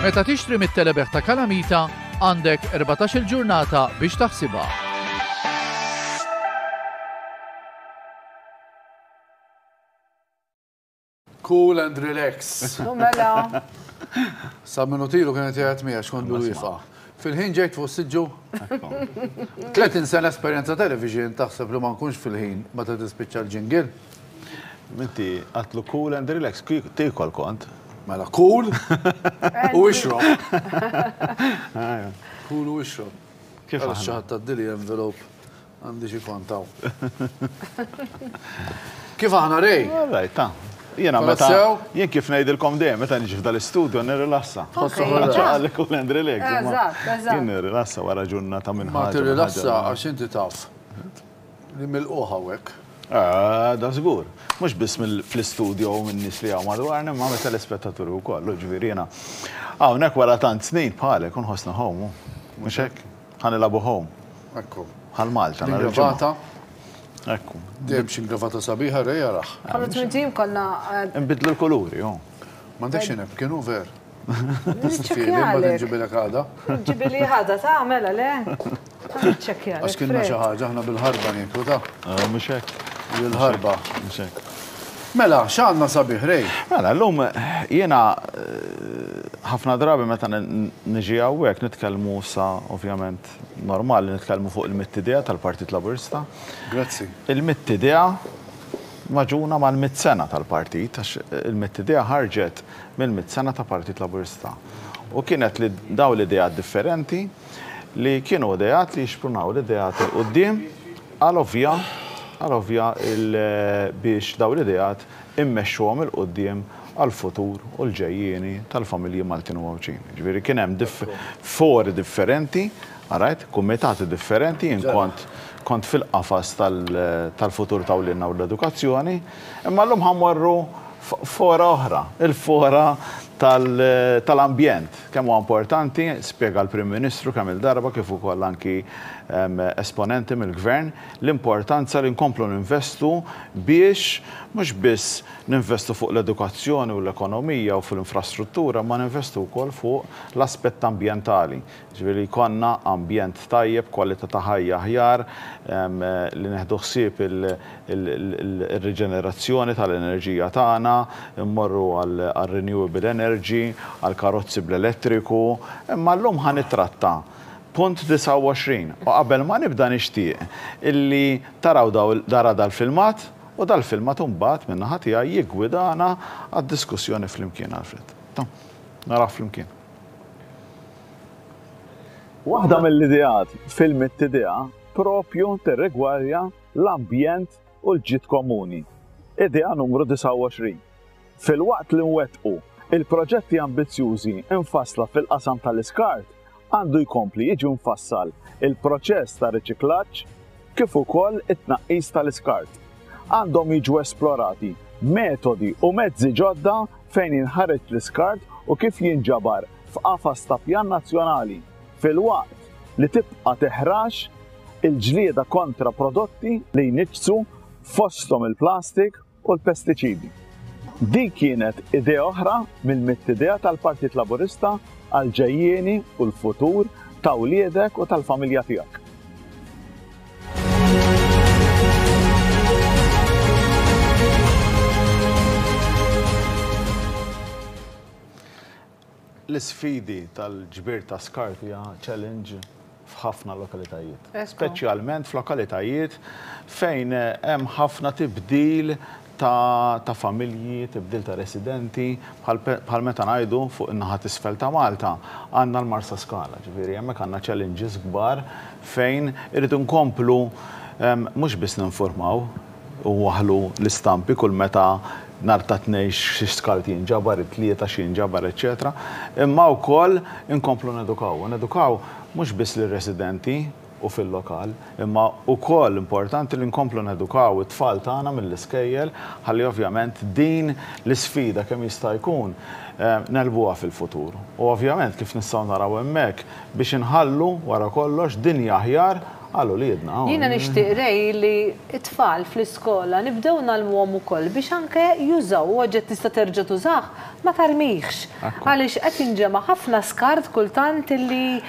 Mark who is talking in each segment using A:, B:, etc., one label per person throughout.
A: Meta tixtri mit-telebejgħ ta' Kalamita, għandek 14-il ġurnata biex taħsibha.
B: Cool and relax.
C: Mela.
B: Sa minutilu kienet jgħat miegħek xkont bil-wieqfa. Fil-ħin ġejt fuq siġġu. 30 sena esperjenza television taħseb li ma nkunx fil-ħin meta tispiċċa l-jingle.
D: Inti għatlu cool and relax, tikol kont.
B: Mela cool u ixrob. Cool u ixrob.
D: Kif
B: Għal xi ħadd tgħaddili envelope Għandi xi kont hawn. Kif aħna Ray?
D: All right, ta. Jiena meta jien kif ngħidilkom dejjem meta niġi f'dal-istudio nirrilassa. Għalli cool and relax.
C: Eżatt, eżatt.
D: Jien nirrilassa wara ġurnata minn
B: Ma tirrilassa għax inti taf li milqugħ hawnhekk.
D: Ah, da żgur. Mhux biss fl-istudio u min-nies li hawn madwarna, imma mit-telespettaturi wkoll, ġifieri jiena hawnhekk wara tant snin bħalek u nħossni home. Mhux hekk? Ħa nilagħbu home.
B: Ekku.
D: Bħal Malta.
B: L-ingravata.
D: Ekku.
B: Dejjem xi ingravata sabiħa Ray araħ.
C: Bħala twin team konna.
D: Nbiddlu l-kuluri, oh.
B: M'għandekx xi napkin, hu ver? Niċċekkjalek. Mbagħad inġibilek għada.
C: Ġibili ħada ta' mela le. Niċċekkjalek.
B: Għax kienna xi ħaġa aħna bil-ħarba nieklu ta'.
D: Ah, mhux hekk.
B: Bil-ħarba.
D: Mhux hekk.
B: Mela, x'għandna sabiħ Ray?
D: Mela, llum jiena ħafna drabi meta niġi hawnhekk nitkellmu sa ovvjament normali nitkellmu fuq il-mitt idea tal-Partit Laburista.
B: Grazzi.
D: Il-mitt idea maġuna mal-mitt sena tal-partit, għax il-mitt idea ħarġet mill-mitt sena ta' Partit Laburista. U kienet li daw l-ideat differenti li kienu ideat li jixprunaw l-ideat 'il quddiem għal ovvja għal ovvja biex dawn l-ideat immexxuhom 'il quddiem għall-futur u l-ġejjieni tal-familji Maltin u Għawdxin. Jiġifieri kien hemm fori differenti, alright, kumitati differenti, jien kont kont fil-qafas tal-futur ta' wliedna u l-edukazzjoni, imma llum ħa mmorru f'fora oħra, il-fora tal-ambjent. Kemm huwa importanti, spjega l-Prim Ministru kemm-il darba kif ukoll anki esponenti mill-Gvern, l-importanza li nkomplu ninvestu biex mhux biss ninvestu fuq l-edukazzjoni u l-ekonomija u fl-infrastruttura imma ninvestu wkoll fuq l-aspett ambjentali. Jiġifieri li jkollna ambjent tajjeb, kwalità ta' ħajja aħjar, li nieħdu ħsieb ir-riġenerazzjoni tal-enerġija tagħna, immorru għar-renewable energy, għall-karozzi bl-elettriku. Imma llum ħa nittratta punt 29 u qabel ma nibda nixtieq illi taraw dara dal-filmat u dal-filmat imbagħad min-naħa tiegħi jiggwidana għad-diskussjoni flimkien Alfred. Naraw flimkien. Waħda mill-ideat fil-Mitt Idea propju tirrigwardja l-ambjent u l-ġid komuni. Idea numru 29. Filwaqt li nwettqu il-proġetti ambizzjużi mfassla fil-qasam tal-iskart, għandu jkompli jiġi mfassal il-proċess ta' riċiklaġġ kif ukoll it-tnaqqis tal-iskart. Għandhom jiġu esplorati metodi u mezzi ġodda fejn jinħareġ l-iskart u kif jinġabar f'qafas ta' pjan nazzjonali, filwaqt li tibqa' teħrax il-ġlieda kontra prodotti li jniġġsu fosthom il-plastik u l-pestiċidi. Din kienet idea oħra mill-mitt idea tal-Partit Laburista għall-ġejjieni u l-futur ta' wliedek u tal-familja tiegħek. L-isfidi tal-ġbir ta' skart hija challenge f'ħafna lokalitajiet. Speċjalment f'lokalitajiet fejn hemm ħafna tibdil ta' ta' familji, tibdil ta' residenti, bħal bħal meta ngħidu fuq in-naħa t'isfel ta' Malta għandna l-Marsaskala, ġifieri hemmhekk għandna challenges kbar fejn irridu nkomplu mhux biss ninfurmaw u nwaħħlu l-istampi kull meta nhar ta' Tnejn xi skart jinġabar, it-Tlieta x'jinġabar, eċċetera, imma wkoll inkomplu nedukaw. U nedukaw mhux biss lir-residenti u fil-lokal, imma wkoll importanti li nkomplu nedukaw it-tfal tagħna mill-iskejjel ħalli ovvjament din l-isfida kemm jista' jkun negħlbuha fil-futur. U ovvjament kif nistgħu naraw hemmhekk biex inħallu wara kollox dinja aħjar. Għal uliedna.
C: Jiena nixtieq Ray li t-tfal fl-iskola nibdew ngħallmuhom ukoll biex anke jużaw u oġġett tista' terġa' tużah ma tarmihx. Għaliex qed jinġema' ħafna skart kultant illi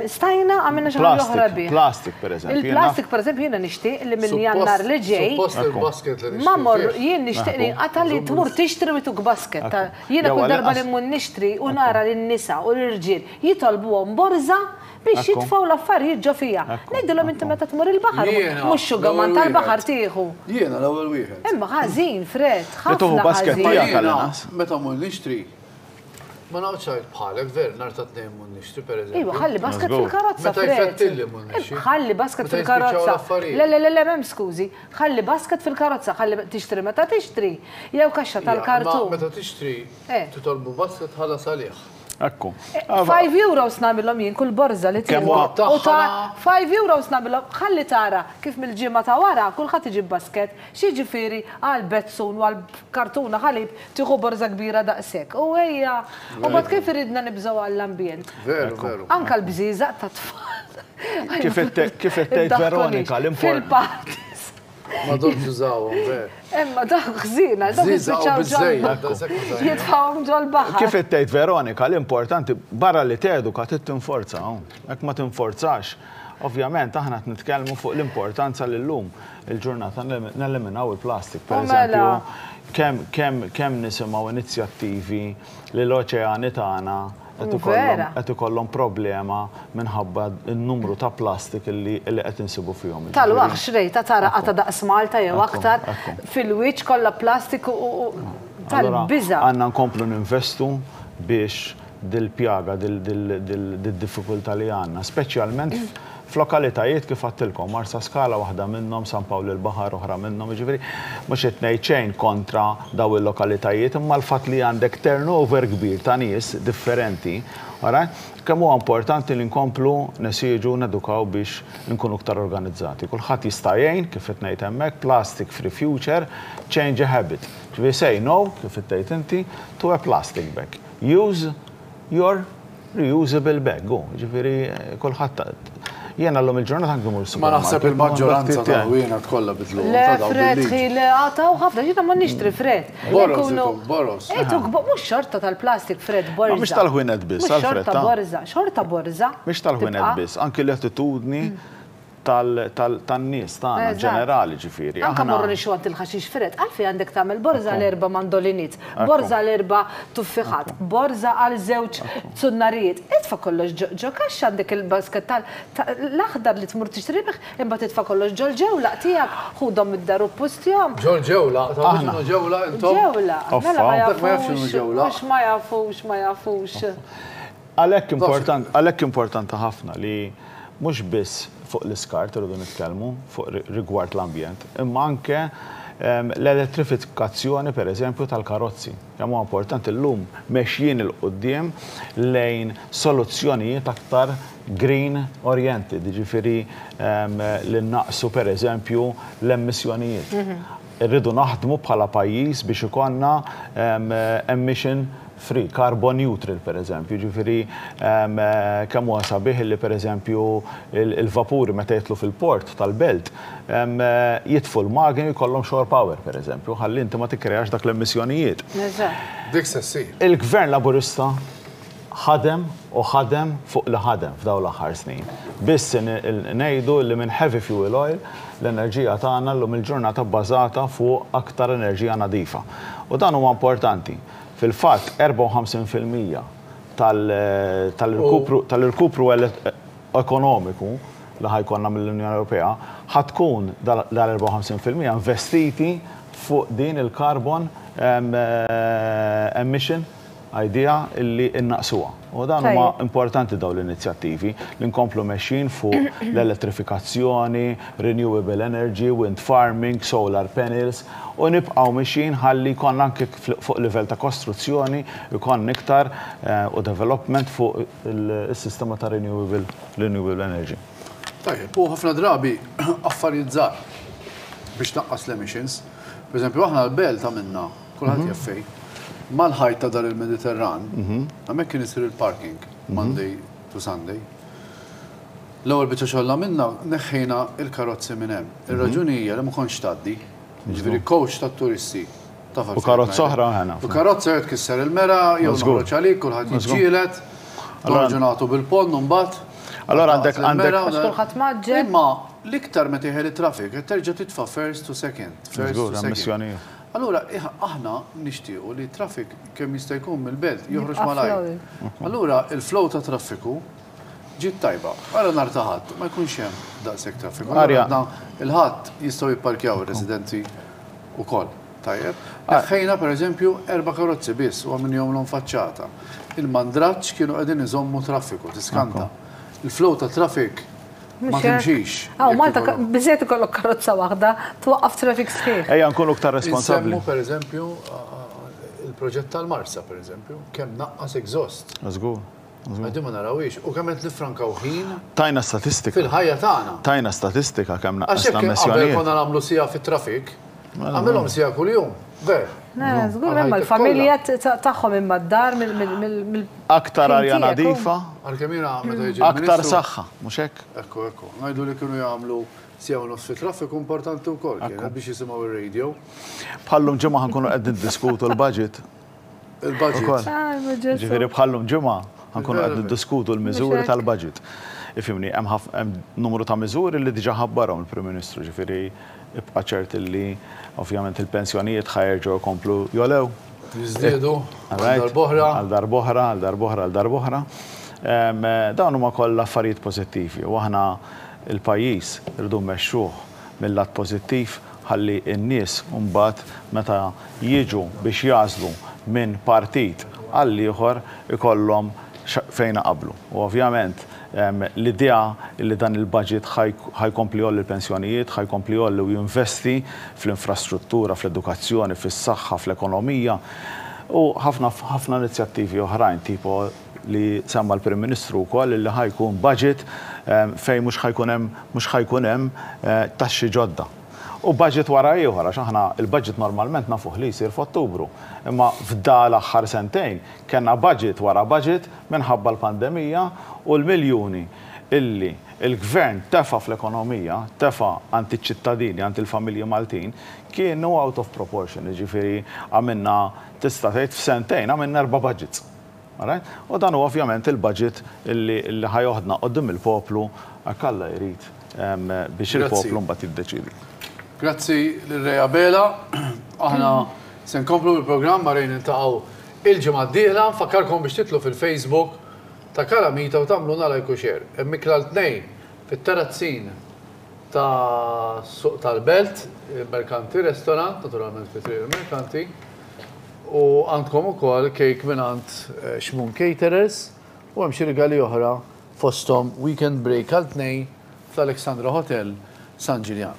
C: stajna għamilna xi ħaġa oħra bih.
D: Plastik pereżempju.
C: Il-plastik pereżempju jiena nixtieq li minn Jannar li ġej.
B: Suppost il-basket li
C: Ma mmorru jien nixtieq li jinqata' li tmur tixtri u jtuk basket. Jiena kull darba li mmur nixtri u nara lin-nisa u l-irġiel jitolbuhom borża Biex jitfgħu l-affarijiet ġo fiha. Ngħidilhom inti meta tmur il-baħar, mhux xugaman tal-baħar tieħu.
B: Jiena l-ewwel wieħed.
C: Imma ħażin, Fred, ħafna ħażin.
B: Jiena meta mmur nixtri, ma noqgħodx ngħid bħalek, ver, nhar ta' Tnejn mmur nixtri pereżempju.
C: Iva, ħalli basket fil-karozza,
B: Fred. Meta jfettilli mmur nixtri.
C: Ħalli basket fil-karozza. Le, le, le, le, m'hemm skużi. Ħalli basket fil-karozza, ħalli tixtri meta tixtri, jew kaxxa tal-kartun.
B: Meta tixtri, titolbu basket tħallas għalih.
D: Ekku.
C: 5 euros nagħmilhom jien kull borża li tieħu. U ta' 5 euros nagħmilhom ħalli tara kif mill-ġimgħa ta' wara kulħadd iġib basket. X'jiġifieri għal bezzun u għal kartuna ħalib tieħu borża kbira daqshekk. U ejja, u mbagħad kif iridna nibżgħu għall-ambjent.
B: Veru, veru.
C: Anke l-bżieżaq tat-tfal.
D: Kif qed tgħid Veronika, l-import.
C: Fil-parties.
B: Ma domx użawhom, ver.
C: Imma dawk ħżiena, dawk jispiċċaw ġol. Jitfgħuhom ġol-baħar.
D: Kif qed tgħid Veronika, l-importanti barra li teduka trid tinforza. Jekk ma tinforzax, ovvjament aħna qed nitkellmu fuq l-importanza li llum il-ġurnata neliminaw il-plastik. Per eżempju, kemm kemm nisimgħu inizjattivi li l-oċeani tagħna qed ikollhom problema minħabba n-numru ta' plastik li qed insibu fihom.
C: Tal-waħx rejta tara qatgħa daqs Malta jew aktar fil-wiċċ kollha plastik u tal-biża'.
D: Għandna nkomplu ninvestu biex dil-pjaga, did-diffikultà li għandna, speċjalment f'lokalitajiet kif għedtilkom, Marsaskala waħda minnhom, San Pawl il-Baħar oħra minnhom, jiġifieri mhux qed ngħid xejn kontra dawn il-lokalitajiet, imma l-fatt li għandek turnover kbir ta' nies differenti, alright, kemm huwa importanti li nkomplu nesiġu, nedukaw biex inkunu iktar organizzati. Kulħadd jista' jgħin, kif qed ngħid hemmhekk, plastic free future, change a habit. Ġifieri say no, kif qed tgħid inti, to a plastic bag. Use your reusable bag, hu, jiġifieri kulħadd Jiena llum il-ġurnata anki mmur
B: Ma naħseb il-maġġoranza ta' ħwienet kollha bidluhom
C: Le, Fred, ħi, le, għataw ħafna, jiena ma nixtri, Fred.
B: Boroż, boroż.
C: Ejtu, mhux xorta tal-plastik, Fred, borża.
D: Mhux tal-ħwienet biss,
C: Alfred. Xorta borża, xorta borża.
D: Mhux tal-ħwienet biss, anki l-attitudni tan-nies tagħna ġenerali ġifieri.
C: Anke morru nixtru għand il-ħaxix Fred, għalfejn għandek tagħmel borża għal erba' mandoliniet, borża għal erba' tuffiħat, borża għal żewġ zunnarijiet. Itfa' kollox ġo kaxxa għandek il-basket tal-aħdar li tmur tixtri bih, imbagħad itfa' kollox ġol-ġewlaq tiegħek, ħudhom mid-dar u ppustjahom.
B: Ġol-ġewlaq, tafu x'inhu ġewlaq intom?
C: Ġewlaq, mela ma jafux, mhux ma jafux, ma jafux.
D: Għalhekk important, għalhekk importanti ħafna li mhux biss fuq l-iskart irridu nitkellmu fuq rigward l-ambjent, imma anke l-elettrifikazzjoni pereżempju tal-karozzi. Kemm huwa importanti llum mexjin 'il quddiem lejn soluzzjonijiet aktar green oriented, jiġifieri li nnaqqsu pereżempju l-emissjonijiet. Irridu naħdmu bħala pajjiż biex ikollna emission free, carbon neutral per eżempju, jiġifieri kemm huwa sabiħ li per eżempju il-vapuri meta jidħlu fil-port tal-belt jitfu l-magni u jkollhom shore power per eżempju, ħalli inti ma tikkreax dak l-emissjonijiet.
B: Dik se ssir.
D: Il-Gvern Laburista ħadem u ħadem fuq li ħadem f'dawn l-aħħar snin. Biss ngħidu li minn heavy fuel oil l-enerġija tagħna llum il-ġurnata bbażata fuq aktar enerġija nadifa. U dan huwa importanti. Fil-fatt, 54% tal-irkupru tal-irkupru ekonomiku li ħa jkollna mill-Unjoni Ewropea ħa tkun dal-54% investiti fuq din il-carbon emission idea illi innaqsuha. U dan huma importanti dawn l-inizjattivi li nkomplu mexjin fuq l-elettrifikazzjoni, renewable energy, wind farming, solar panels u nibqgħu mexjin ħalli jkollna anke fuq livell ta' kostruzzjoni jkollna iktar u development fuq is-sistema ta' renewable renewable energy.
B: Tajjeb, u ħafna drabi affarijiet żgħar biex tnaqqas l-emissions. Per eżempju, aħna l-belt għamilna Kulħadd jaf fejn. Mal-ħajt ta' Dar il-Mediterran, hemmhekk kien isir il-parking, Monday to Sunday. L-ewwel biċċa xogħol li għamilna, neħħejna l-karozzi minn hemm. Ir-raġuni hija li ma kontx tgħaddi. Jiġifieri coach tat-turisti. Taf
D: U karozza oħra ħena.
B: U karozza jew tkisser il-mera, jew noħroġ għalik, kulħadd jiġġieled. Noħorġu nagħtu bil-ponn u mbagħad.
D: Allora għandek għandek.
C: Għax kulħadd mgħaġġel.
B: Imma l-iktar meta jeħel it-traffic qed terġa' titfa' first to second. First to second. Allura aħna nixtiequ li t-traffic kemm jista' jkun mill-belt joħroġ malajr. Allura il-flow ta' traffiku Ġiet tajba. Ara nhar ta' Ħadd ma jkunx hemm daqshekk traffiku. Allura għadna il-Ħadd jistgħu jipparkjaw ir-residenti wkoll. Tajjeb. Neħħejna pereżempju erba' karozzi biss u għamilnihomlhom faċċata. Il-mandraġġ kienu qegħdin iżommu traffiku, tiskanta. Il-flow ta' traffic ma timxix.
C: Hawn Malta biżżejjed ikollok karozza waħda twaqqaf traffic sħiħ.
D: Ejja nkunu iktar responsabbli.
B: Insemmu pereżempju il-proġett tal-Marsa pereżempju, kemm naqqas exhaust.
D: Żgur.
B: Ma din ma narawhiex. U kemm qed niffrankaw ħin.
D: Tajna statistika.
B: Fil-ħajja tagħna.
D: Tajna statistika kemm naqqasna
B: emissjonijiet. Għax jekk qabel konna nagħmlu siegħa fit-traffic, għamilhom siegħa kuljum. Ver.
C: Żgur imma l-familja tagħhom imma d-dar mill.
D: Aktar arja nadifa.
B: Għalkemm jiena meta jiġi l-Ministru.
D: Aktar saħħa, mhux hekk?
B: Ekku, ekku. Ngħidu li kienu jagħmlu siegħa u nofs fit-traffiku importanti wkoll kienet biex jisimgħu ir-radio.
D: Bħal-lum ġimgħa ħa nkunu qed niddiskutu l-budget.
B: Il-budget.
D: Ġifieri bħal-lum ġimgħa ħa nkunu qed niddiskutu l-miżuri tal-budget. Ifhimni, hemm numru ta' miżuri li diġà ħabbarhom il-Prim Ministru, ġifieri ibqa' ċert li ovvjament il-pensjonijiet ħa jerġgħu jkomplu jogħlew.
B: Jiżdiedu għal darb'oħra.
D: Għal darb'oħra, għal darb'oħra, għal darb'oħra. Dawn huma kollha affarijiet pożittivi u aħna l-pajjiż irridu mmexxuh mil-lat pożittiv ħalli n-nies mbagħad meta jiġu biex jagħżlu minn partit għall-ieħor ikollhom fejn iqabblu. U ovvjament l-idea li dan il-budget ħa jkompli jgħolli l-pensjonijiet, ħa jkompli jgħolli u jinvesti fl-infrastruttura, fl-edukazzjoni, fis-saħħa, fl-ekonomija u ħafna ħafna inizjattivi oħrajn tipo li semma l-Prim Ministru wkoll li ħa jkun budget fejn mhux ħa jkun hemm mhux ħa jkun hemm taxxi ġodda. U budget wara ieħor, għax aħna il-budget normalment nafuh li jsir f'Ottubru. Imma f'da l-aħħar sentejn kellna budget wara budget minħabba l-pandemija u l-miljuni illi l-Gvern tefa' fl-ekonomija, tefa' għand iċ-ċittadini, għand il-familji Maltin, kienu out of proportion. Jiġifieri għamilna, tista' tgħid f'sentejn għamilna erba' budgets. Alright? U dan hu ovvjament il-budget illi ħa joħdna quddiem il-poplu hekk Alla jrid biex il-poplu mbagħad jiddeċiedi.
B: Grazzi lil Ray Abela. Aħna se nkomplu bil-programm ma' Ray niltaqgħu il-ġimgħa d-dieħla. Nfakkarkom biex titlu fil-Facebook ta' Kalamita u tagħmluna like u share. Hemm ikla l-Tnejn fit-Terrazzin ta' Suq tal-Belt, il-Merkanti Restaurant, naturalment fi Triq il-Merkanti. U għandkom ukoll cake mingħand Xmun Caterers u hemm xi rigali oħra fosthom weekend break għal tnejn fl-Alexandra Hotel San Ġiljan.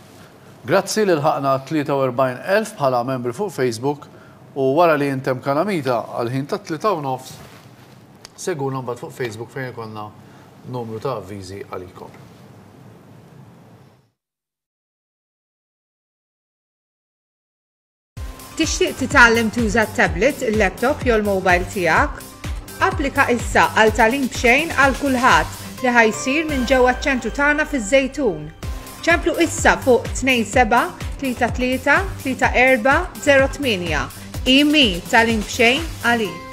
B: Grazzi li lħaqna 43,000 bħala membri fuq Facebook u wara li jintemm Kalamita għall-ħin tat-tlieta u nofs segwuna mbagħad fuq Facebook fejn ikollna numru ta' avviżi għalikom.
E: Tixtieq titgħallem tuża t-tablet, il-laptop jew l-mobile tiegħek? Applika issa għal tagħlim b'xejn għal kulħadd li ħa jsir minn ġewwa ċ-ċentru tagħna fiż-Żejtun. Ċemplu issa fuq 27 33 34 08. IMI tagħlim b'xejn għalik.